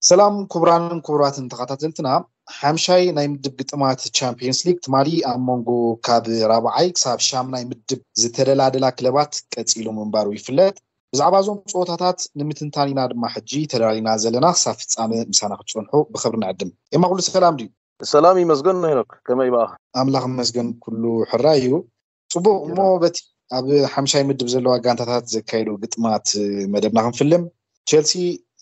ሰላም ክቡራንን ክቡራትን ተኸታተልትና፣ ሓምሻይ ናይ ምድብ ግጥማት ቻምፒየንስ ሊግ ትማሊ ኣብ መንጎ ካብ ራብዓይ ክሳብ ሻምናይ ምድብ ዝተደላደላ ክለባት ቀጺሉ ምንባሩ ይፍለጥ። ብዛዕባ እዞም ፀወታታት ንምትንታን ኢና ድማ ሕጂ ተዳሊና ዘለና። ክሳብ ፍጻመ ምሳና ክትጸንሑ ብኽብሪ ንዕድም። ኤማ፣ ኩሉ ሰላም ድዩ? ሰላም ይመስገን ሄኖክ፣ ከመይ በኣኻ? ኣምላኽ ይመስገን፣ ኩሉ ሕራይ እዩ። ጽቡቕ እሞ፣ በቲ ኣብ ሓምሻይ ምድብ ዘለዋ ጋንታታት ዘካየዱ ግጥማት መደብና ክንፍልም። ቸልሲ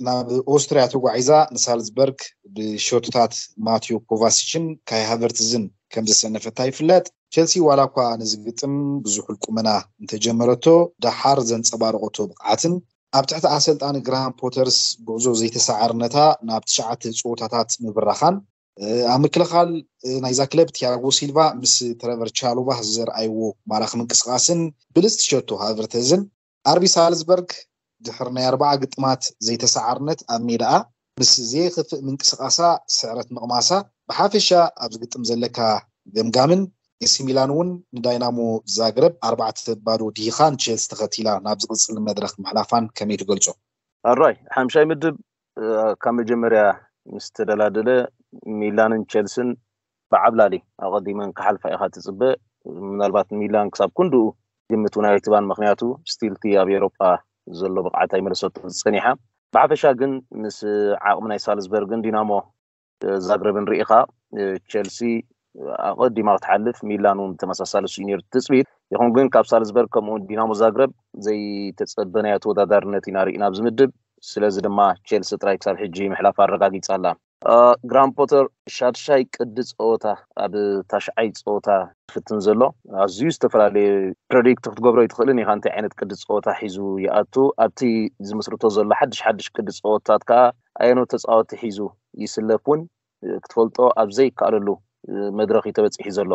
ናብ ኦስትርያ ተጓዒዛ ንሳልዝበርግ ብሸቶታት ማቲዮ ኮቫሲችን ካይ ሃቨርትዝን ከም ዘሰነፈታ ይፍለጥ። ቸልሲ ዋላ እኳ ነዚ ግጥም ብዙሕ ቁመና እንተጀመረቶ፣ ደሓር ዘንጸባረቐቶ ብቕዓትን ኣብ ትሕቲ ኣሰልጣኒ ግራሃም ፖተርስ ጉዕዞ ዘይተሰዓርነታ ናብ ትሽዓተ ጸወታታት ምብራኻን፣ ኣብ ምክልኻል ናይዛ ክለብ ቲያጎ ሲልቫ ምስ ትረቨር ቻሎባ ዘርኣይዎ ማራኺ ምንቅስቓስን ብልጽቲ ሸቶ ሃቨርተዝን፣ ኣርቢ ሳልዝበርግ ድሕሪ ናይ ኣርባዓ ግጥማት ዘይተሰዓርነት ኣብ ሜዳኣ ምስ ዘየኽፍእ ምንቅስቓሳ ስዕረት ምቕማሳ፣ ብሓፈሻ ኣብዚ ግጥም ዘለካ ገምጋምን፣ ኤሲ ሚላን እውን ንዳይናሞ ዛግረብ ኣርባዕተ ባዶ ድሂኻ ንቼልሲ ተኸቲላ ናብ ዝቕጽል መድረኽ ምሕላፋን ከመይ ትገልጾ? ኣራይ ሓምሻይ ምድብ ካብ መጀመርያ ምስ ተደላደለ፣ ሚላንን ቼልስን ብዓብላሊ ኣቐዲመን ክሓልፋ ኢኻ ትጽበ። ምናልባት ሚላን ክሳብ ክንድኡ ግምት እውን ኣይትባን፣ ምኽንያቱ ስቲልቲ ኣብ ኤሮጳ ዘሎ ብቕዓት ኣይመለሰቶ ዝጸኒሓ። ብሓፈሻ ግን ምስ ዓቕሚ ናይ ሳልዝበርግን ዲናሞ ዛግረብን ርኢኻ፣ ቸልሲ ኣቐዲማ ክትሓልፍ፣ ሚላን እውን ተመሳሳሊ እሱ እዩ ነይሩ ትጽቢት። ይኹን ግን ካብ ሳልዝበርግ ከምኡ እውን ዲናሞ ዛግረብ ዘይተጸበናዮ ተወዳዳርነት ኢና ርኢና ኣብዚ ምድብ። ስለዚ ድማ ቸልሲ ጥራይ ክሳብ ሕጂ ምሕላፍ ኣረጋጊጻ ኣላ። ግራም ፖተር ሻድሻይ ቅዲ ጸወታ ኣብ ታሽዓይ ጸወታ ፍትን ዘሎ፣ ኣዝዩ ዝተፈላለየ ፕረዲክት ክትገብሮ ይትኽእልን ኢኻ እንታይ ዓይነት ቅዲ ጸወታ ሒዙ ይኣቱ። ኣብቲ ዝምስርቶ ዘሎ ሓድሽ ሓድሽ ቅዲ ጸወታት ከኣ ኣየኖት ተጻወቲ ሒዙ ይስለፍ እውን ክትፈልጦ ኣብ ዘይከኣለሉ መድረኽ እዩ ተበጺሑ ዘሎ።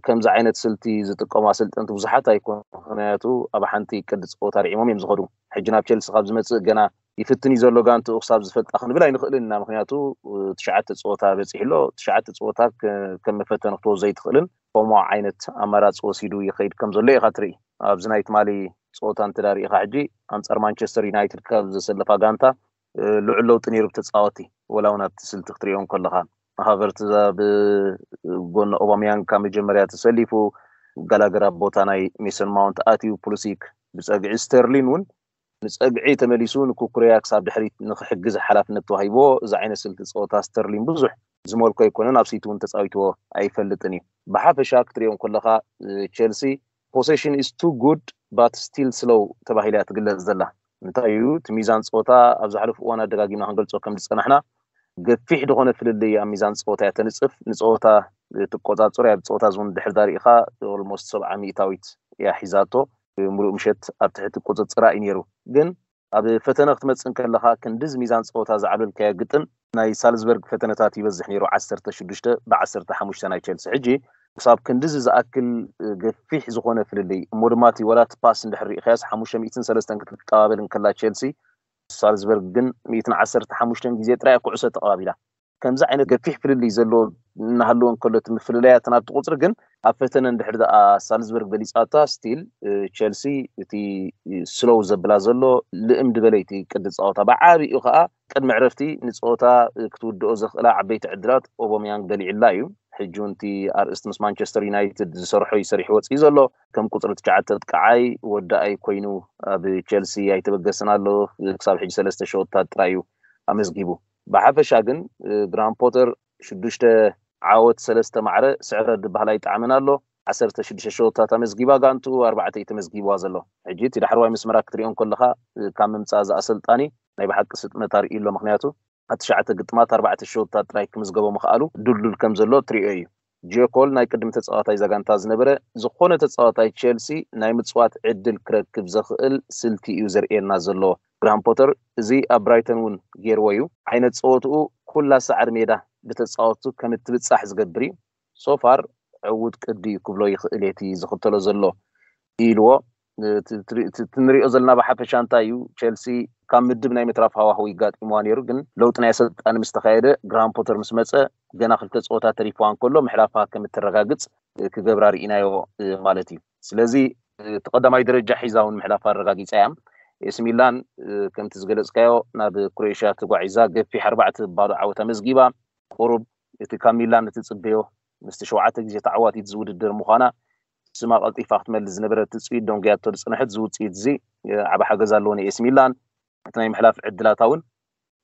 ከምዚ ዓይነት ስልቲ ዝጥቀሙ ኣሰልጠንቲ ብዙሓት ኣይኮኑ፣ ምኽንያቱ ኣብ ሓንቲ ቅዲ ጸወታ ርዒሞም እዮም ዝኸዱ። ሕጂ ናብ ቸልሲ ካብ ዝመጽእ ገና ይፍትን እዩ ዘሎ፣ ጋንትኡ ክሳብ ዝፈልጣ ክንብል ኣይንኽእልን ኢና፣ ምኽንያቱ ትሽዓተ ጸወታ በጺሑ ኣሎ። ትሽዓተ ጸወታ ከም መፈተኒ ክትወስዶ ኣይትኽእልን። ከምኡ ዓይነት ኣማራጺ ወሲዱ ይኸይድ ከም ዘሎ ኢኻ ትርኢ። ኣብዚ ናይ ትማሊ ጸወታ እንተ ሪኢኻ፣ ሕጂ ኣንጻር ማንቸስተር ዩናይትድ ካብ ዘሰለፋ ጋንታ ልዑል ለውጢ ነይሩ ብተጻወቲ፣ ወላ እውን ኣብቲ ስልቲ ክትሪኦ እንከለኻ፣ ሃቨርትዝ ኣብ ጎኒ ኦባሚያንግ ካብ መጀመርያ ተሰሊፉ፣ ጋላገር ኣብ ቦታ ናይ ሜሰን ማውንት ኣትዩ፣ ፑሊሲክ ብጸግዒ፣ ስተርሊን እውን ንጸግዒ ተመሊሱ ንኩኩረያ ክሳብ ድሕሪት ንክሕግዝ ሓላፍነት ተዋሂብዎ። እዚ ዓይነት ስልቲ ጸወታ ስተርሊን ብዙሕ ዝመልኮ ኣይኮነን፣ ኣብ ሲቲ እውን ተጻዊትዎ ኣይፈልጥን እዩ። ብሓፈሻ ክትሪኦ እንከለኻ፣ ቸልሲ possession is too good but still slow ተባሂላ እያ ትግለጽ ዘላ። እንታይ እዩ እቲ ሚዛን ጸወታ? ኣብ ዝሓለፉ እዋናት ደጋጊምና ክንገልጾ ከም ዝጸናሕና፣ ገፊሕ ዝኾነ ፍልልይ ኣብ ሚዛን ጸወታ እያ ተንጽፍ። ንጸወታ ትቆጻጸሮ እያ፣ ብጸወታ እውን ድሕሪ ዳር ኢኻ ኦልሞስት ሰብዓ ሚእታዊት እያ ሒዛቶ። ምሉእ ምሸት ኣብ ትሕቲ ቁጽጽራ እዩ ነይሩ። ግን ኣብ ፈተነ ክትመጽእ እንከለኻ፣ ክንድዚ ሚዛን ጸወታ ዝዓብለልካዮ ግጥም፣ ናይ ሳልዝበርግ ፈተነታት ይበዝሕ ነይሩ፣ ዓሰርተ ሽዱሽተ ብ ዓሰርተ ሓሙሽተ ናይ ቸልሲ። ሕጂ ክሳብ ክንድዚ ዝኣክል ገፊሕ ዝኾነ ፍልልይ፣ እሞ ድማ እቲ ወላ እቲ ፓስ እንድሕር ርኢኻዮስ፣ ሓሙሽተ ሚእትን ሰለስተን ክትጠባበል እንከላ ቸልሲ፣ ሳልዝበርግ ግን ሚእትን ዓሰርተ ሓሙሽተን ግዜ ጥራይ ኩዕሶ ተቐባቢላ። ከምዚ ዓይነት ገፊሕ ፍልልይ ዘለዎ እናሃለወ እንከሎ፣ እቲ ምፍልላያት ናብቲ ቁጽሪ ግን ኣብ ፈተነ እንድሕር ደኣ ሳልዝበርግ በሊጻታ፣ ስቲል ቸልሲ እቲ ስሎው ዘብላ ዘሎ ልእም ድበለይቲ ቅዲ ጸወታ፣ ብዓቢኡ ከኣ ቅድሚ ዕረፍቲ ንጸወታ ክትውድኦ ዘኽእላ ዓበይቲ ዕድላት ኦቦሚያንግ በሊዕላ እዩ። ሕጂ እውን እቲ ኣርእስቲ ምስ ማንቸስተር ዩናይትድ ዝሰርሖ እዩ ሰሪሑ ወጺኡ ዘሎ። ከም ቁጽሪ ትሽዓተ ኣጥቃዓይ ወዳኣይ ኮይኑ ኣብ ቸልሲ ኣይተበገስን ኣሎ። ክሳብ ሕጂ ሰለስተ ሸወታት ጥራይ እዩ ኣመዝጊቡ። ብሓፈሻ ግን ግራም ፖተር ሽዱሽተ ዓወት፣ ሰለስተ ማዕረ ስዕረት ዝበሃል ኣይጠዓመን ኣሎ። ዓሰርተ ሽዱሽተ ሸወታት ኣመዝጊባ ጋንቱ፣ ኣርባዕተ እዩ ተመዝጊብዋ ዘሎ። ሕጂ እቲ ዳሕረዋይ መስመራ ክትሪኦ እንከለኻ፣ ካብ ምምጻእ እዚ ኣሰልጣኒ ናይ ብሓቂ ስጥመት ኣርእዩ ኣሎ። ምኽንያቱ ኣብ ትሽዓተ ግጥማት ኣርባዕተ ሸወታት ጥራይ ክምዝገቦ ምኽኣሉ ድልዱል ከም ዘሎ ትሪኦ እዩ። ጄኮል ናይ ቅድሚ ተጻዋታይ እዛ ጋንታ ዝነበረ፣ ዝኾነ ተጻዋታይ ቸልሲ ናይ ምጽዋት ዕድል ክረክብ ዘኽእል ስልቲ እዩ ዘርእየና ዘሎ ግራም ፖተር። እዚ ኣብ ብራይተን እውን ገይርዎ እዩ። ዓይነት ጸወትኡ ኩላ ሳዕሪ ሜዳ ብተጻወቱ ከም እትብጻሕ ዝገብር እዩ። ሶፋር ዕዉት ቅዲ እዩ ክብሎ ይኽእል እቲ ዝኽተሎ ዘሎ ኢልዎ። እቲ ንሪኦ ዘለና ብሓፈሻ እንታይ እዩ፣ ቸልሲ ካብ ምድብ ናይ ምትራፍ ሃዋህው ይጋጢምዋ ነይሩ፣ ግን ለውጢ ናይ ኣሰልጣኒ ምስ ተኻየደ፣ ግራም ፖተር ምስ መጸ፣ ገና ክልተ ጸወታ ተሪፍዋ እንከሎ ምሕላፋ ከም እትረጋግጽ ክገብራ ርኢናዮ ማለት እዩ። ስለዚ እቲ ቀዳማይ ደረጃ ሒዛ እውን ምሕላፋ ኣረጋጊጻ እያ። ኤሲ ሚላን ከምቲ ዝገለፅካዮ ናብ ክሮኤሽያ ተጓዒዛ ገፊሕ ኣርባዕተ ባዶ ዓወት ኣመዝጊባ። ቁሩብ እቲ ካብ ሚላን እትፅበዮ ምስቲ ሸውዓተ ግዜ ተዓዋቲት ዝውድድር ምዃና ስማ ቀልጢፋ ክትመልስ ዝነበረት ትፅቢት ደንጉያቶ ዝፅንሐት ዝውፅኢት እዚ ዓብ ሓገዝ ኣለዎ ንኤሲ ሚላን። እቲ ናይ ምሕላፍ ዕድላታ እውን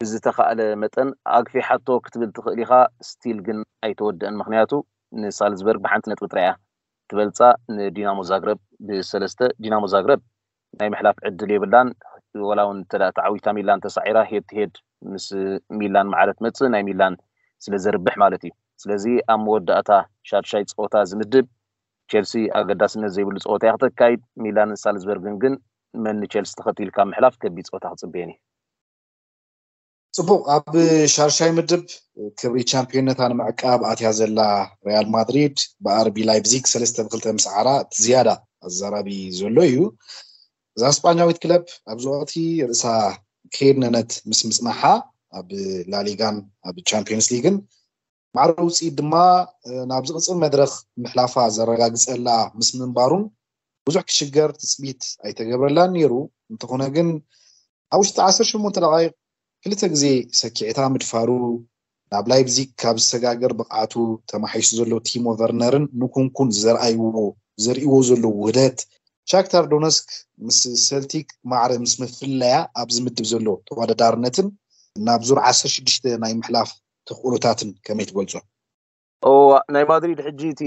ብዝተኻእለ መጠን ኣግፊሓቶ ክትብል ትኽእል ኢኻ። ስቲል ግን ኣይተወደአን፣ ምክንያቱ ንሳልዝበርግ ብሓንቲ ነጥቢ ጥራያ ትበልፃ፣ ንዲናሞ ዛግረብ ብሰለስተ። ዲናሞ ዛግረብ ናይ ምሕላፍ ዕድል የብላን። ወላ እውን እንተ ተዓዊታ ሚላን ተሳዒራ ሄድ ሄድ ምስ ሚላን ማዕረ ትመፅእ ናይ ሚላን ስለ ዘርብሕ ማለት እዩ። ስለዚ ኣብ መወዳእታ ሻድሻይ ፀወታ ዝምድብ ቸልሲ ኣገዳስነት ዘይብሉ ፀወታ እያ ክተካይድ። ሚላንን ሳልዝበርግን ግን መን ንቸልሲ ተኸቲልካ ምሕላፍ ከቢድ ፀወታ ክፅበየን እዩ። ፅቡቅ። ኣብ ሻርሻይ ምድብ ክብሪ ቻምፒዮነታ ንምዕቃብ ኣትያ ዘላ ሪያል ማድሪድ ብኣርቢ ላይፕዚግ ሰለስተ ብክልተ ምስ ዓራ እቲ ዝያዳ ኣዘራቢ ዘሎ እዩ። እዛ ስጳኛዊት ክለብ ኣብዚ ወቅቲ ርእሳ ከየድነነት ምስ ምፅናሓ ኣብ ላሊጋን ኣብ ቻምፒዮንስ ሊግን ማዕረ ውፅኢት ድማ ናብ ዝቕፅል መድረክ ምሕላፋ ዘረጋግፀላ ምስ ምንባሩን ብዙሕ ክሽገር ትፅቢት ኣይተገብረላን ነይሩ። እንተኾነ ግን ኣብ ውሽጢ ዓሰርተ ሸሞንተ ደቃይቅ ክልተ ግዜ ሰኪዕታ ምድፋሩ ናብ ላይፕዚግ ካብ ዝሰጋገር ብቕዓቱ ተማሒሱ ዘሎ ቲሞ ቨርነርን ንኩንኩን ዘርኣይዎ ዘርእዎ ዘለዉ ውህደት ሻክታር ዶነስክ ምስ ሰልቲክ ማዕረ ምስ ምፍለያ ኣብዚ ምድብ ዘሎ ተወዳዳርነትን ናብ ዙር ዓሰርተ ሽዱሽተ ናይ ምሕላፍ ተኽእሎታትን ከመይ ትገልጾ? እዋ ናይ ማድሪድ ሕጂ እቲ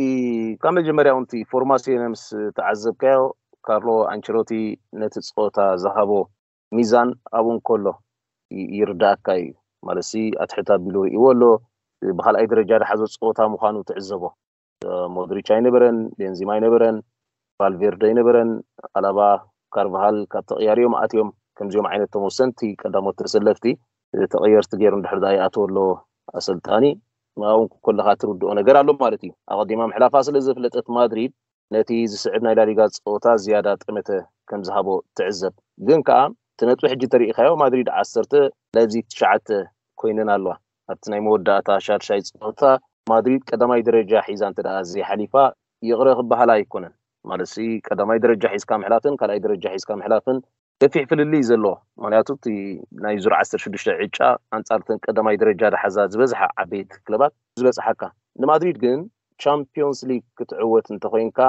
ካብ መጀመርያ እውን እቲ ፎርማሲዮን ምስ ተዓዘብካዮ ካርሎ ኣንቸሎቲ ነቲ ፀወታ ዝሃቦ ሚዛን ኣብኡ እንከሎ ይርዳእካ እዩ። ማለት ኣትሕት ኣቢሉ ርእዎ ኣሎ። ብካልኣይ ደረጃ ዝሓዞ ፀወታ ምዃኑ ትዕዘቦ። ሞድሪች ኣይነበረን፣ ቤንዚማ ኣይነበረን፣ ቫልቬርደ ኣይነበረን፣ ኣላባ፣ ካርቫሃል ካብ ተቕያሪኦም ኣትዮም። ከምዚኦም ዓይነት ቶም ወሰንቲ ቀዳሞት ተሰለፍቲ ተቐየርቲ ገይሩ እንድሕር ዳ ይኣተወ ኣሎ ኣሰልጣኒ ኣብኡ ከለካ ትርድኦ ነገር ኣሎ ማለት እዩ። ኣቐዲማ ምሕላፋ ስለ ዘፍለጠት ማድሪድ ነቲ ዝስዕብ ናይ ላሊጋ ፀወታ ዝያዳ ጠመተ ከም ዝሃቦ ትዕዘብ። ግን ከዓ እቲ ነጥቢ ሕጂ ተሪኢካዮ ማድሪድ ዓሰርተ ላይፕዚግ ትሽዓተ ኮይነን ኣለዋ። ኣብቲ ናይ መወዳእታ ሻድሻይ ፀወታ ማድሪድ ቀዳማይ ደረጃ ሒዛ እንተ ደኣ ዘይሓሊፋ ይቕረ ክበሃል ኣይኮነን። ማለት ቀዳማይ ደረጃ ሒዝካ ምሕላፍን ካልኣይ ደረጃ ሒዝካ ምሕላፍን ገፊሕ ፍልልይ ዘለዎ። ምክንያቱ እቲ ናይ ዙር ዓሰርተ ሽዱሽተ ዕጫ ኣንፃር ተን ቀዳማይ ደረጃ ዝሓዛ ዝበዝሓ ዓበይቲ ክለባት ዝበፅሓካ። ንማድሪድ ግን ቻምፒዮንስ ሊግ ክትዕወት እንተኮይንካ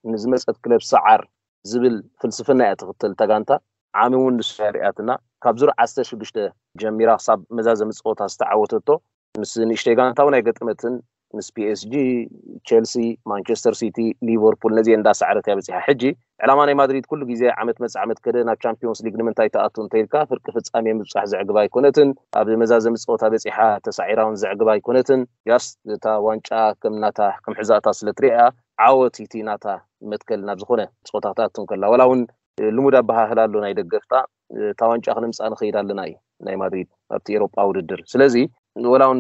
ንዝመፀት ክለብ ሰዓር ዝብል ፍልስፍና እያ ትኽተል እታ ጋንታ። ዓሚ እውን ንሱ እያ ሪኣትና። ካብ ዙር ዓሰርተ ሽዱሽተ ጀሚራ ክሳብ መዛዘሚ ፀወታ ዝተዓወተቶ ምስ ንእሽተይ ጋንታ እውን ኣይገጠመትን። ምስ ፒኤስጂ፣ ቸልሲ፣ ማንቸስተር ሲቲ፣ ሊቨርፑል ነዚኤን እንዳሰዓረት እያ በፂሓ። ሕጂ ዕላማ ናይ ማድሪድ ኩሉ ግዜ ዓመት መፅ ዓመት ከደ ናብ ቻምፒዮንስ ሊግ ንምንታይ ትኣቱ እንተኢልካ ፍርቂ ፍፃሜ ምብፃሕ ዘዕግባ ኣይኮነትን። ኣብ መዛዘሚ ፀወታ በፂሓ ተሳዒራ እውን ዘዕግባ ኣይኮነትን። ያስ እታ ዋንጫ ከም ናታ ከም ሕዛእታ ስለ ትሪኣ ዓወት እቲ ናታ መትከል ናብ ዝኾነ ፀወታ ክትኣቱ እንከላ ዋላ እውን ልሙድ ኣበሃህላ ኣሎ ናይ ደገፍታ እታ ዋንጫ ክነምፅኣ ንኸይድ ኣለና እዩ ናይ ማድሪድ ኣብቲ ኤሮጳ ውድድር። ስለዚ ወላ እውን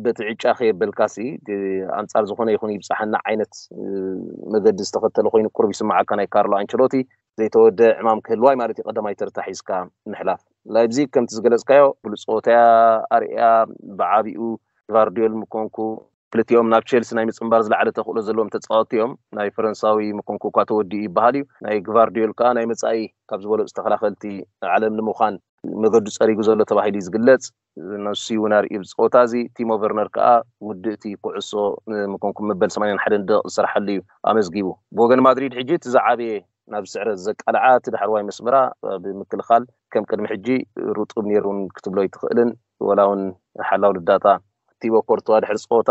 በቲ ዕጫ ከየበልካሲ ኣንፃር ዝኾነ ይኹን ይብፃሓና ዓይነት መገዲ ዝተኸተለ ኮይኑ ቁሩብ ይስማዓካ ናይ ካርሎ ኣንቸሎቲ ዘይተወደ ዕማም ክህልዋይ ማለት እዩ። ቀዳማይ ተርታ ሒዝካ ምሕላፍ ላይፕዚግ ከምቲ ዝገለፅካዮ ብሉፅ ፀወታ እያ ኣርእያ። ብዓቢኡ ቫርዲዮል ምኮንኩ ክልቲኦም ናብ ቸልሲ ናይ ምፅንባር ዝለዓለ ተኽእሎ ዘለዎም ተፃወትቲ እዮም። ናይ ፈረንሳዊ ምኮንኩ እኳ ተወዲኡ ይበሃል እዩ። ናይ ግቫርዲዮል ከዓ ናይ መፃኢ ካብ ዝበለፁ ተኸላኸልቲ ዓለም ንምዃን መገዱ ፀሪጉ ዘሎ ተባሂሉ እዩ ዝግለፅ። ንሱ እውን ኣርእዩ ብፀወታ እዚ ቲሞ ቨርነር ከዓ ውድእቲ ኩዕሶ ምኮንኩ መበል ሰማንያን ሓደን ደቂቕ ዝሰርሓሉ እዩ ኣመዝጊቡ። ብወገን ማድሪድ ሕጂ እቲ ዝዓበየ ናብ ስዕረት ዘቃልዓ እቲ ዳሕረዋይ መስመራ ብምክልኻል ከም ቅድሚ ሕጂ ርጡብ ነይሩ ክትብሎ ኣይትኽእልን። ወላ እውን ሓላው ልዳታ ቲቦ ኮርትዋ ድሕሪ ፀወታ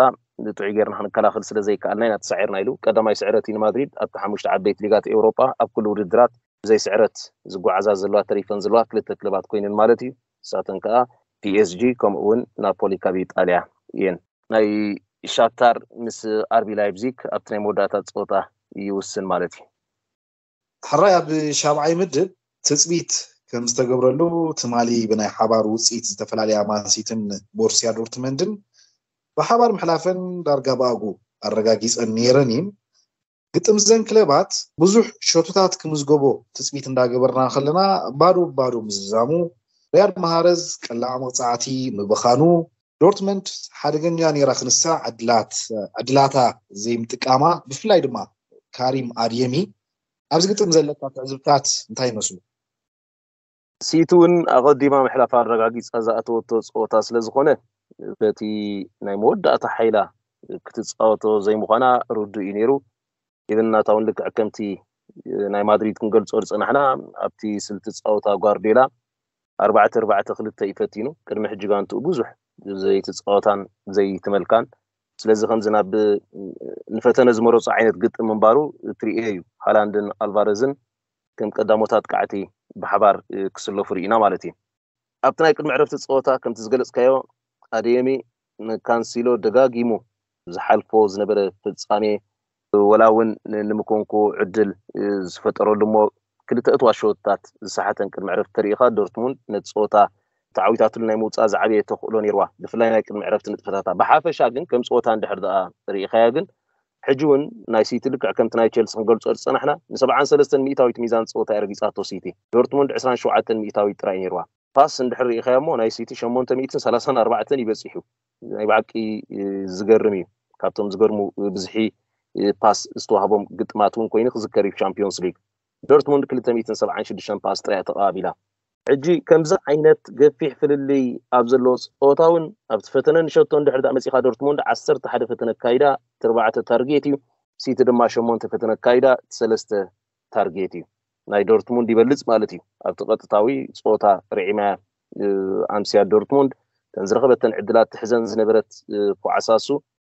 ጥዑይ ጌርና ክንከላኸል ስለ ዘይከኣልና ኢና ተሳዒርና ኢሉ። ቀዳማይ ስዕረት እዩ ንማድሪድ ኣብቲ ሓሙሽተ ዓበይቲ ሊጋት ኤውሮጳ ኣብ ኩሉ ውድድራት ብዘይ ስዕረት ዝጓዓዛ ዘለዋ ተሪፈን ዘለዋ ክልተ ክለባት ኮይነን ማለት እዩ። ንሳተን ከዓ ፒኤስጂ ከምኡ እውን ናፖሊ ካብ ኢጣልያ እየን። ናይ ሻክታር ምስ ኣርቢ ላይፕዚግ ኣብቲ ናይ መወዳእታ ፀወታ ይውስን ማለት እዩ። ሕራይ ኣብ ሻብዓይ ምድብ ትፅቢት ከም ዝተገብረሉ ትማሊ ብናይ ሓባር ውፅኢት ዝተፈላለያ ማንሲትን ቦርሲያ ዶርትመንድን ብሓባር ምሕላፈን ዳርጋ ብኣጉ ኣረጋጊፀን ነይረን እየን። ግጥም ዘን ክለባት ብዙሕ ሸቶታት ክምዝገቦ ትፅቢት እንዳገበርና ከለና ባዶ ባዶ ምዝዛሙ ሪያድ ማሃረዝ ቀላዕ መቕፃዕቲ ምብኻኑ ዶርትመንድ ሓደገኛ ነይራ ክንሳ ዕድላት ዕድላታ ዘይምጥቃማ ብፍላይ ድማ ካሪም ኣድየሚ ኣብዚ ግጥም ዘለካ ትዕዝብታት እንታይ ይመስሉ? ሲቲ እውን ኣቐዲማ ምሕላፍ ኣረጋጊፃ ዝኣተወቶ ፀወታ ስለ ዝኾነ በቲ ናይ መወዳእታ ሓይላ ክትፃወቶ ዘይምዃና ርዱእ እዩ ነይሩ። ኢብን ናታ እውን ልክዕ ከምቲ ናይ ማድሪድ ክንገልፆ ዝፀናሕና ኣብቲ ስልቲ ፃወታ ጓርዲዮላ ኣርባዕተ ኣርባዕተ ክልተ እዩ ፈቲኑ። ቅድሚ ሕጂ ጋንትኡ ብዙሕ ዘይትፃወታን ዘይትመልካን፣ ስለዚ ከምዚ ናብ ንፈተነ ዝመረፁ ዓይነት ግጥም ምንባሩ ትርእዮ እዩ። ሃላንድን ኣልቫረዝን ከም ቀዳሞት ኣጥቃዕቲ ብሓባር ክስለፉ ርኢና ማለት እዩ። ኣብቲ ናይ ቅድሚ ዕረፍቲ ፀወታ ከምቲ ዝገለፅካዮ ኣደየሚ ንካንሲሎ ደጋጊሙ ዝሓልፎ ዝነበረ ፍጻሜ ወላ እውን ንምኮንኩ ዕድል ዝፈጠረሉ እሞ ክልተ እትዋ ሸወታት ዝሰሓተን ቅድሚ ዕረፍቲ ተሪኢኻ ዶርትሙንድ ነቲ ፀወታ ተዓዊታትሉ ናይ ምውፃእ ዝዓበየ ተኽእሎ ነይርዋ። ብፍላይ ናይ ቅድሚ ዕረፍቲ ንጥፈታታ ብሓፈሻ ግን ከም ፀወታ እንድሕር ደኣ ርኢኻያ ግን ሕጂ እውን ናይ ሲቲ ልክዕ ከምቲ ናይ ቸልሲ ክንገልፆ ዝፀናሕና ንሰብዓን ሰለስተን ሚእታዊት ሚዛን ፀወታ እያ ረጊፃቶ ሲቲ። ዶርትሙንድ ዕስራን ሸውዓተን ሚእታዊት ጥራይ ነይርዋ። ፓስ እንድሕር ርኢኻዮ እሞ ናይ ሲቲ ሸሞንተ ሚእትን ሰላሳን ኣርባዕተን ይበፂሑ። ናይ ብሓቂ ዝገርም እዩ። ካብቶም ዝገርሙ ብዝሒ ፓስ ዝተዋህቦም ግጥማት እውን ኮይኑ ክዝከር እዩ። ቻምፒዮንስ ሊግ ዶርትሙንድ ክልተ ሚእትን ሰብዓን ሽዱሽተን ፓስ ጥራይ ተቐባቢላ። ሕጂ ከምዚ ዓይነት ገፊሕ ፍልልይ ኣብ ዘለዎ ፀወታ እውን ኣብቲ ፈተነ ንሸቶ እንድሕር ዳ መፂኻ ዶርትሙንድ ዓሰርተ ሓደ ፈተነ ኣካይዳ፣ ኣርባዕተ ታርጌት እዩ። ሲቲ ድማ ሸሞንተ ፈተነ ኣካይዳ፣ ሰለስተ ታርጌት እዩ። ናይ ዶርትሙንድ ይበልፅ ማለት እዩ። ኣብቲ ቀጥታዊ ፀወታ ርዒማ ኣምስያ ዶርትሙንድ ተን ዝረኸበተን ዕድላት ትሕዘን ዝነበረት ኮዓሳሱ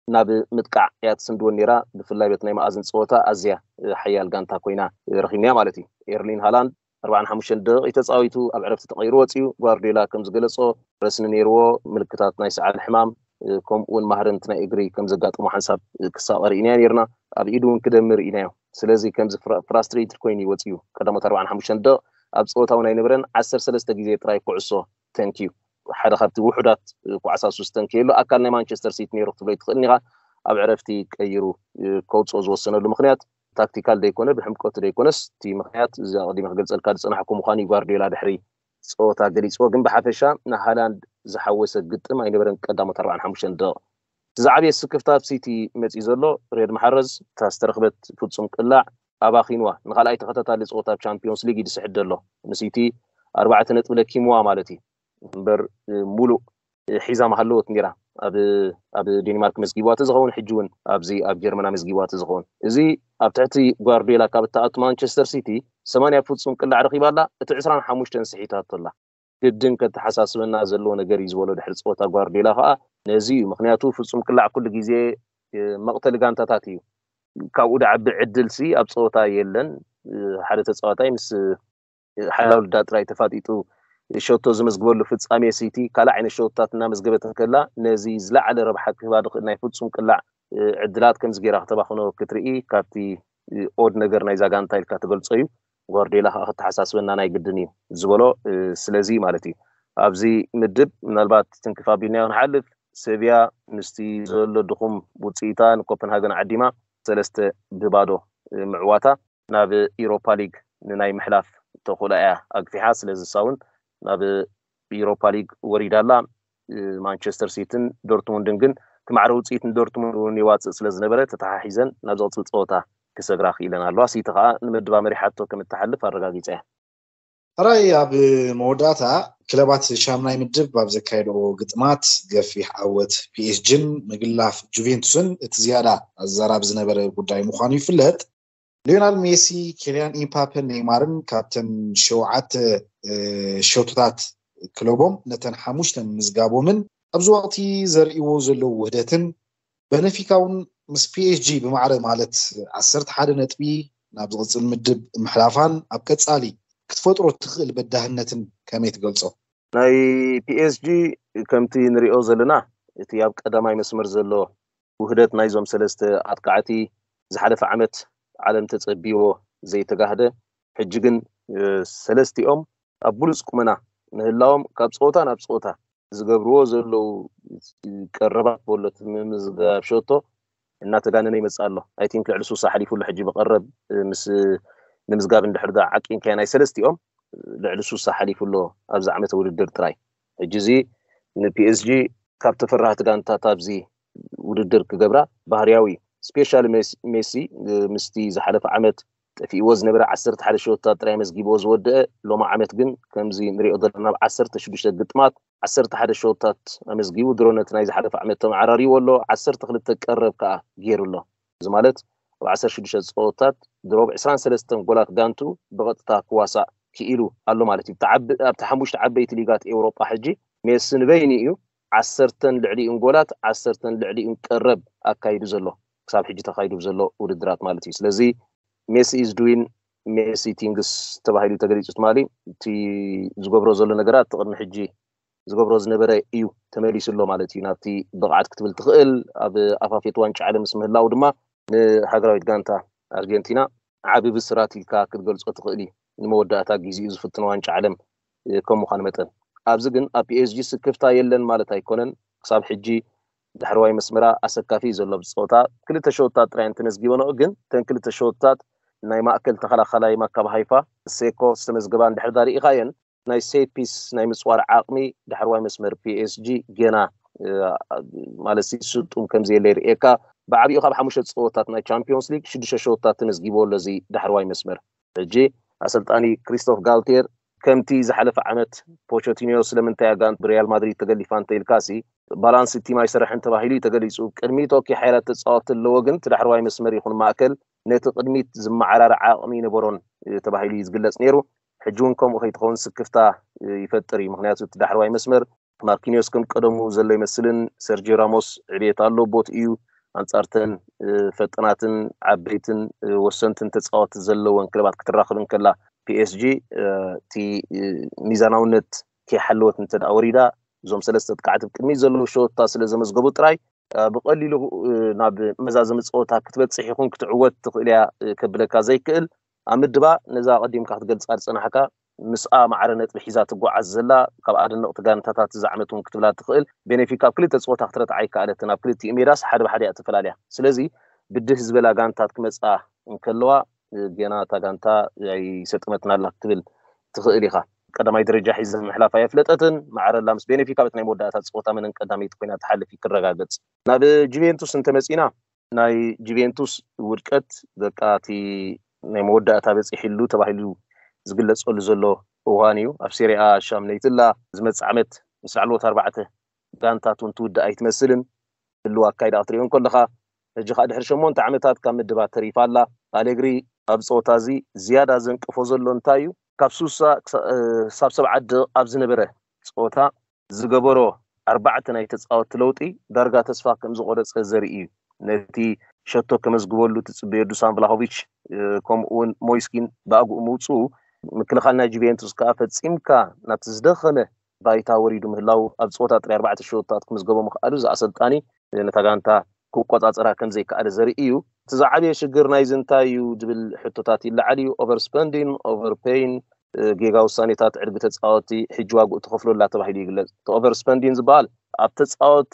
ናብ ምጥቃዕ እያ ትስንድወን ነይራ። ብፍላይ በት ናይ መኣዝን ፀወታ ኣዝያ ሓያል ጋንታ ኮይና ረኺብናያ ማለት እዩ። ኤርሊን ሃላንድ ኣርባዓን ሓሙሽተን ደቂቕ ተፃዊቱ ኣብ ዕረፍቲ ተቐይሩ ወፂኡ። ጓርዲዮላ ከም ዝገለፆ ረስኒ ነይርዎ፣ ምልክታት ናይ ሰዓል ሕማም ከምኡ እውን ማህረምቲ ናይ እግሪ ከም ዘጋጠሞ ሓንሳብ ክሳቐ ርኢናዮ ነይርና። ኣብ ኢዱ እውን ክደሚ ርኢናዮ። ስለዚ ከምዚ ፍራስትሬትድ ኮይኑ እዩ ወፂኡ። ቀዳሞት ኣርባዓን ሓሙሽተን ደቕ ኣብ ፀወታ እውን ኣይነበረን። ዓሰርተ ሰለስተ ግዜ ጥራይ ኩዕሶ ተንክዩ። ሓደ ካብቲ ውሑዳት ኩዓሳሱ ዝተንከየሉ ኣካል ናይ ማንቸስተር ሲቲ ነይሩ ክትብሎ ትኽእል ኢኻ። ኣብ ዕረፍቲ ቀይሩ ከውፅኦ ዝወሰነሉ ምክንያት ታክቲካል ደይኮነ ብሕምቀቱ ደይኮነስ እቲ ምክንያት እዚ ኣቐዲመ ክገልፀልካ ዝፀናሕኩ ምዃኑ እዩ ጓርዲዮላ ድሕሪ ፀወታ ገሊፅዎ። ግን ብሓፈሻ ንሃላንድ ዝሓወሰ ግጥም ኣይነበረን ቀዳሞት ኣርባዓን ሓሙሽተን ደቕ። እቲ ዝዓበየ ስክፍታ ኣብ ሲቲ መፂኡ ዘሎ ሪያድ ማሕረዝ እታ ዝተረኽበት ፍፁም ቅላዕ ኣባኺንዋ። ንኻልኣይ ተኸታታሊ ፀወታ ኣብ ቻምፒዮንስ ሊግ እዩ ዝስሕት ዘሎ። ንሲቲ ኣርባዕተ ነጥቢ ለኪምዋ ማለት እዩ። እምበር ሙሉእ ሒዛ ምሃለወት ነይራ። ኣብ ኣብ ዴንማርክ መዝጊብዋ ተዝኸውን ሕጂ እውን ኣብዚ ኣብ ጀርመን መዝጊብዋ ተዝኸውን። እዚ ኣብ ትሕቲ ጓርዲዮላ ካብ እትኣቱ ማንቸስተር ሲቲ ሰማንያ ፍጹም ቅላዕ ረኺባ ኣላ፣ እቲ ዕስራን ሓሙሽተን ስሒታቶ ኣላ። ግድን ከተሓሳስበና ዘለዎ ነገር እዩ ዝበሎ ድሕሪ ፀወታ ጓርዲዮላ ከዓ ነዚ እዩ። ምክንያቱ ፍጹም ቅላዕ ኩሉ ግዜ መቕተሊ ጋንታታት እዩ። ካብኡ ደዓቢ ዕድልሲ ኣብ ፀወታ የለን። ሓደ ተፃዋታይ ምስ ሓላል ዳ ጥራይ ተፋጢጡ ሸቶ ዝመዝግበሉ ፍጻሜ ሲቲ ካልእ ዓይነት ሸቶታት እናመዝገበት እንከላ ነዚ ዝለዓለ ረብሓ ክህባ ዝኽእል ናይ ፍጹም ቅላዕ ዕድላት ከምዚ ጌራ ክተባኽኖ ክትርኢ ካብቲ ኦድ ነገር ናይዛ ጋንታ ኢልካ ትገልጾ እዩ። ጓርዲዮላ ከዓ ክተሓሳስበና ናይ ግድን እዩ ዝበሎ ስለዚ ማለት እዩ። ኣብዚ ምድብ ምናልባት ትንክፍ ኣቢልናዮ ክንሓልፍ ሰብያ ምስቲ ዘሎ ድኹም ውፅኢታ ንኮፐንሃገን ዓዲማ ሰለስተ ብባዶ ምዕዋታ ናብ ኢሮፓ ሊግ ንናይ ምሕላፍ ተኽእሎ እያ ኣግፊሓ። ስለዚ እሳ እውን ናብ ኢሮፓ ሊግ ወሪዳ ኣላ። ማንቸስተር ሲቲን ዶርትሙንድን ግን እቲ ማዕረ ውፅኢት ንዶርትሙንድ እውን ይዋፅእ ስለ ዝነበረ ተተሓሒዘን ናብ ዝቕፅል ፀወታ ክሰግራ ክኢለን ኣለዋ። ሲቲ ከዓ ንምድባ መሪሓቶ ከም እትሓልፍ ኣረጋጊፃ እያ። ሕራይ ኣብ መወዳእታ ክለባት ሻምናይ ምድብ ኣብ ዘካየድኦ ግጥማት ገፊሕ ዓወት ፒኤስጂን ምግላፍ ጁቬንቱስን እቲ ዝያዳ ኣዘራራቢ ዝነበረ ጉዳይ ምዃኑ ይፍለጥ። ሊዮናል ሜሲ፣ ኬልያን ኢምፓፐን ኔይማርን ካብተን ሸውዓተ ሸቶታት ክለቦም ነተን ሓሙሽተ ምምዝጋቦምን ኣብዚ ወቕቲ ዘርእይዎ ዘለዉ ውህደትን በነፊካ እውን ምስ ፒኤስጂ ብማዕረ ማለት ዓሰርተ ሓደ ነጥቢ ናብ ዝቕፅል ምድብ ምሕላፋን ኣብ ቀፃሊ ክትፈጥሮ እትኽእል በዳህነትን ከመይ ትገልፆ? ናይ ፒኤስጂ ከምቲ ንሪኦ ዘለና እቲ ኣብ ቀዳማይ መስመር ዘሎ ውህደት ናይዞም ሰለስተ ኣጥቃዕቲ ዝሓለፈ ዓመት ዓለም ተፀቢዎ ዘይተጋህደ ሕጂ ግን ሰለስቲኦም ኣብ ብሉፅ ቁመና ምህላዎም ካብ ፀወታ ናብ ፀወታ ዝገብርዎ ዘለዉ ቀረባት በሎት ምምዝጋብ ሸቶ እናተጋነነ ይመፅእ ኣሎ። ኣይ ቲንክ ልዕሊ ሱሳ ሓሊፉ ኣሎ ሕጂ ብቐረብ ምስ ምምዝጋብ እንድሕር ዳ ዓቂንካዮ ናይ ሰለስቲኦም ልዕሊ ሱሳ ሓሊፉ ኣሎ ኣብዚ ዓመተ ውድድር ጥራይ። ሕጂ እዚ ንፒኤስጂ ካብ ተፈራህቲ ጋንታታት ኣብዚ ውድድር ክገብራ ባህርያዊ እዩ። ስፔሻሊ ሜሲ ምስቲ ዝሓለፈ ዓመት ጠፊእዎ ዝነበረ ዓሰርተ ሓደ ሸወታት ጥራይ መዝጊብዎ ዝወደአ፣ ሎሚ ዓመት ግን ከምዚ ንሪኦ ዘለና ኣብ ዓሰርተ ሽዱሽተ ግጥማት ዓሰርተ ሓደ ሸወታት ኣመዝጊቡ። ድሮ ነቲ ናይ ዝሓለፈ ዓመት ተመዓራሪዎ ኣሎ፣ ዓሰርተ ክልተ ቀረብ ከዓ ገይሩ ኣሎ። እዚ ማለት ኣብ ዓሰርተ ሽዱሽተ ፀወታት ድሮ ብ ዕስራን ሰለስተን ጎላት ጋንቱ ብቐጥታ ክዋሳእ ክኢሉ ኣሎ ማለት እዩ። ኣብቲ ዓብ- ኣብቲ ሓሙሽተ ዓበይቲ ሊጋት ኤውሮጳ ሕጂ ሜሲ ንበይኑ እዩ ዓሰርተን ልዕሊኡን ጎላት፣ ዓሰርተን ልዕሊኡን ቀረብ ኣካይዱ ዘሎ፣ ክሳብ ሕጂ ተኻይዱ ዘሎ ውድድራት ማለት እዩ። ስለዚ ሜሲ is doing messy things ተባሂሉ ተገሊፁ ትማሊ። እቲ ዝገብሮ ዘሎ ነገራት እቲ ቅድሚ ሕጂ ዝገብሮ ዝነበረ እዩ ተመሊሱ ኣሎ ማለት እዩ። ናብቲ ብቕዓት ክትብል ትኽእል ኣብ ኣፋፌት ዋንጫ ዓለም ምስ ምህላው ድማ ንሃገራዊት ጋንታ ኣርጀንቲና ዓቢ ብስራት ኢልካ ክትገልጾ ትኽእል እዩ። ንመወዳእታ ግዜኡ ዝፍትኖ ዋንጫ ዓለም እ፣ ከም ምዃኑ መጠን ኣብዚ ግን ኣብ ፒኤስጂ ስክፍታ የለን ማለት ኣይኮነን። ክሳብ ሕጂ ዳሕረዋይ መስመራ ኣሰካፊ እዩ ዘሎ ብፀወታ ክልተ ሸወታት ጥራይ እንተመዝጊበ ንዑ ግን እተን ክልተ ሸወታት ናይ ማእከል ተኸላኸላይ ማካብ ሃይፋ ሴኮ ዝተመዝገባ እንድሕር ዳ ርኢኻየን ናይ ሴት ፒስ ናይ ምፅዋር ዓቕሚ ዳሕረዋይ መስመር ፒኤስጂ ገና እ፣ ማለት ሲ ስጡም ከም ዘየለ ይርእየካ። ብዓብኡ ካብ ሓሙሽተ ፀወታት ናይ ቻምፒዮንስ ሊግ ሽዱሽተ ሸወታት ተመዝጊብዎ ኣሎ እዚ ዳሕረዋይ መስመር። ሕጂ ኣሰልጣኒ ክሪስቶፍ ጋልቴር ከምቲ ዝሓለፈ ዓመት ፖቸቲኒዮ ስለምንታይ ኣጋንት ብሪያል ማድሪድ ተገሊፋ እንተኢልካሲ ባላንስ ቲም ኣይሰርሕን ተባሂሉ እዩ ተገሊፁ። ቅድሚት ኦኬ ሓይላት ተፃወቲ ኣለዎ፣ ግን እቲ ዳሕረዋይ መስመር ይኹን ማእከል ነቲ ቅድሚት ዝመዓራረ ዓቕሚ ይነበሮን እ፣ ተባሂሉ እዩ ዝግለፅ ነይሩ። ሕጂ እውን ከምኡ ከይትኸውን ስክፍታ እ፣ ይፈጥር እዩ። ምክንያቱ እቲ ዳሕረዋይ መስመር ማርኪኒዮስ ከም ቀደሙ ዘሎ ይመስልን ሰርጂዮ ራሞስ ዕብየት ኣሎ ቦት እዩ። ኣንጻርተን እ፣ ፈጠናትን ዓበይትን እ፣ ወሰንትን ተፃወቲ ዘለወን ክለባት ክትራኽብ እንከላ ፒኤስጂ እ፣ እቲ እ፣ ሚዛናውነት ከይሓለወት እንተ ደኣ ወሪዳ እዞም ሰለስተ ጥቃዕቲ ቅድሚት ዘለዉ ሸወታ ስለ ዘመዝገቡ ጥራይ እ፣ ብቐሊሉ እ፣ ናብ መዛዘሚ ፀወታ ክትበፅሕ ይኹን ክትዕወት ትኽእል እያ እ፣ ከብለካ ዘይክእል ኣብ ምድባ ነዛ ኣቐዲምካ ክትገልፃ ዝፀናሕካ ምስኣ ማዕረ ነጥቢ ሒዛ ትጓዓዝ ዘላ ካብ ኣደነቕቲ ጋንታታት እዛ ዓመት እውን ክትብላ ትኽእል ቤኔፊካ ኣብ ክልተ ፀወታ ክትረትዓ ኣይከኣለትን ኣብ ክልቲኡ ሜዳስ ሓደ ብሓደ እያ ተፈላለያ ስለዚ ብድህ ዝበላ ጋንታት ክመፃ እንከለዋ እ፣ ገና እታ ጋንታ ኣይሰጠመትን ኣላ ክትብል ትኽእል ኢኻ ቀዳማይ ደረጃ ሒዘ ምሕላፍ ኣየፍለጠትን ማዕረ ኣላ ምስ ቤኔፊካ በቲ ናይ መወዳእታ ፀወታ መነን ቀዳመይቲ ኮይና ትሓልፍ እዩ ክረጋገፅ ናብ ጁቬንቱስ እንተመፂና ናይ ጁቬንቱስ ውድቀት በቃ እቲ ናይ መወዳእታ በፂሕሉ ተባሂሉ ዝግለፀሉ ዘሎ እዋን እዩ ኣብ ሴሪኣ ሻምነይትላ ዝመፅእ ዓመት ምስ ላዕለዎት ኣርባዕተ ጋንታት እውን ትውድእ ኣይትመስልን ህልው ኣካይዳ ክትሪኦ እንከለካ ሕጂ ከዓ ድሕሪ ሸሞንተ ዓመታት ካብ ምድባት ተሪፋ ኣላ ኣሌግሪ ኣብ ፀወታ እዚ ዝያዳ ዘንቅፎ ዘሎ እንታይ እዩ ካብ ሱሳ ክሳብ ሰብዓ ደቂቕ ኣብ ዝነበረ ፀወታ ዝገበሮ ኣርባዕተ ናይ ተፃወቲ ለውጢ ዳርጋ ተስፋ ከም ዝቆረፀ ዘርኢ እዩ ነቲ ሸቶ ከመዝግበሉ ትፅበዮ ዱሳን ቭላሆቪች ከምኡ እውን ሞይስኪን ብኣግኡ ምውፅኡ ምክልኻል ናይ ጁቬንቱስ ከዓ ፈፂምካ ናብቲ ዝደኸመ ባይታ ወሪዱ ምህላው ኣብ ፀወታ ጥራይ ኣርባዕተ ሸወታት ክምዝገቦ ምኽኣሉ እዚ ኣሰልጣኒ ነታ ጋንታ ክቆፃፀራ ከም ዘይከኣለ ዘርኢ እዩ እቲ ዝዓበየ ሽግር ናይዚ እንታይ እዩ ዝብል ሕቶታት ይለዓል እዩ ኦቨር ስፐንዲን ኦቨር ፔይን ጌጋ ውሳኔታት ዕድጊ ተፃወቲ ሕጂ ዋግኡ ትኸፍሎ ኣላ ተባሂሉ ይግለፅ እቲ ኦቨር ስፐንዲን ዝበሃል ኣብ ተፃወቲ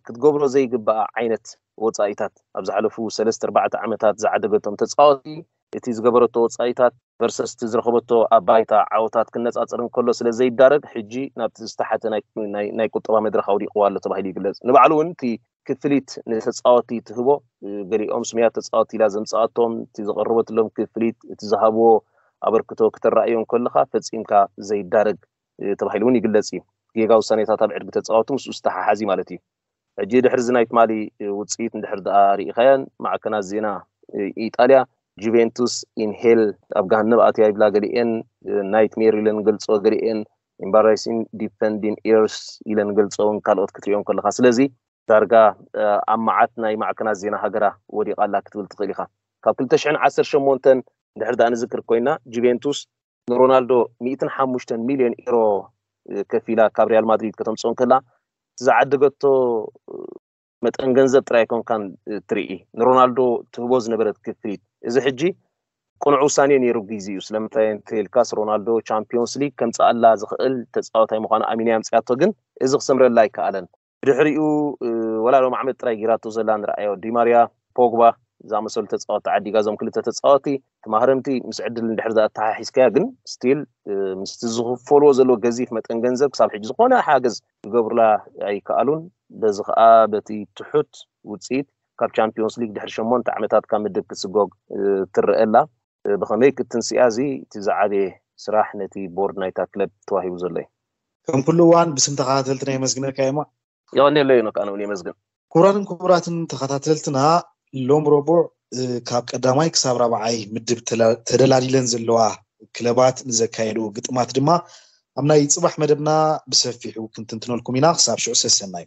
ክትገብሮ ዘይግበኣ ዓይነት ወፃኢታት ኣብ ዝሓለፉ ሰለስተ ኣርባዕተ ዓመታት ዝዓደገቶም ተፃወቲ እቲ ዝገበረቶ ወፃኢታት ቨርሰስ እቲ ዝረኸበቶ ኣብ ባይታ ዓወታት ክነፃፀር እንከሎ ስለ ዘይዳረግ ሕጂ ናብቲ ዝተሓተ ናይ ቁጠባ መድረኽ ኣውዲቕዋ ኣሎ ተባሂሉ ይግለፅ ንባዕሉ እውን እቲ ክፍሊት ንተፃወቲ ትህቦ ገሊኦም ስሙያት ተፃወቲ ኢላ ዘምፃኣቶም እቲ ዘቐረበትሎም ክፍሊት እቲ ዝሃብዎ ኣበርክቶ ክተረኣዮ እንከለካ ፈፂምካ ዘይዳረግ ተባሂሉ እውን ይግለፅ እዩ ጌጋ ውሳኔታት ኣብ ዕድጊ ተፃወቲ ምስኡ ዝተሓሓዚ ማለት እዩ ሕጂ ድሕሪ እዚ ናይ ትማሊ ውፅኢት እንድሕር ደኣ ርኢኻያን ማዕከናት ዜና ኢጣልያ ጁቬንቱስ ኢንሄል ኣብ ገሃነብ ኣትያ ይብላ ገሊኤን ናይትሜር ኢለን ገልፆ ገሊኤን ኢምባራሲን ዲፈንዲን ኤርስ ኢለን ገልፆ እውን ካልኦት ክትሪኦም ከለካ ስለዚ ዳርጋ ኣብ መዓት ናይ ማዕከናት ዜና ሃገራ ወዲቓ ኣላ ክትብል ትኽእል ኢኻ ካብ ክልተ ሽሕን ዓሰርተ ሸሞንተን ድሕር ዳ ንዝክር ኮይና ጁቬንቱስ ንሮናልዶ ሚእትን ሓሙሽተን ሚልዮን ኢሮ ከፊላ ካብ ሪያል ማድሪድ ከተምፅኦ እንከላ ዝዓደገቶ መጠን ገንዘብ ጥራይ ኮንካን ትርኢ ንሮናልዶ ትህቦ ዝነበረት ክፍሊት እዚ ሕጂ ቅኑዕ ውሳኔ ነይሩ ግዜኡ ስለምንታይ እንተልካስ ሮናልዶ ቻምፒዮንስ ሊግ ከምፅኣላ ዝኽእል ተፃወታይ ምዃኑ ኣሚና ኣምፅኣቶ ግን እዚ ክሰምረላ ኣይከኣለን ብድሕሪኡ ወላ ሎም ዓመት ጥራይ ጌራቶ ዘላ ንረኣዮ ዲማርያ ፖግባ ዝኣመሰሉ ተፃወቲ ዓዲጋ እዞም ክልተ ተፃወቲ እቲ ማህረምቲ ምስ ዕድል እንድሕር ኣተሓሒዝካያ ግን ስቲል ምስቲ ዝኽፈልዎ ዘለዎ ገዚፍ መጠን ገንዘብ ክሳብ ሕጂ ዝኾነ ሓገዝ ክገብሩላ ኣይከኣሉን በዚ ከዓ በቲ ትሑት ውፅኢት ካብ ቻምፒዮንስ ሊግ ድሕሪ ሸሞንተ ዓመታት ካብ ምድብ ክትስጎግ ትረአ ኣላ ብኸመይ ክትንስያ እዚ እቲ ዝዓበየ ስራሕ ነቲ ቦርድ ናይታ ክለብ ተዋሂቡ ዘሎ እዩ። ከም ኩሉ እዋን ብስም ተኸታተልትና የመስግነካ። የማ የቐንየለይ ኖክ ኣነ እውን የመስግን። ክቡራትን ክቡራትን ተኸታተልትና፣ ሎም ረቡዕ ካብ ቀዳማይ ክሳብ ራብዓይ ምድብ ተደላዲለን ዘለዋ ክለባት ንዘካየድኡ ግጥማት ድማ ኣብ ናይ ፅባሕ መደብና ብሰፊሑ ክንትንትነልኩም ኢና። ክሳብ ሽዑ ሰሰናዩ።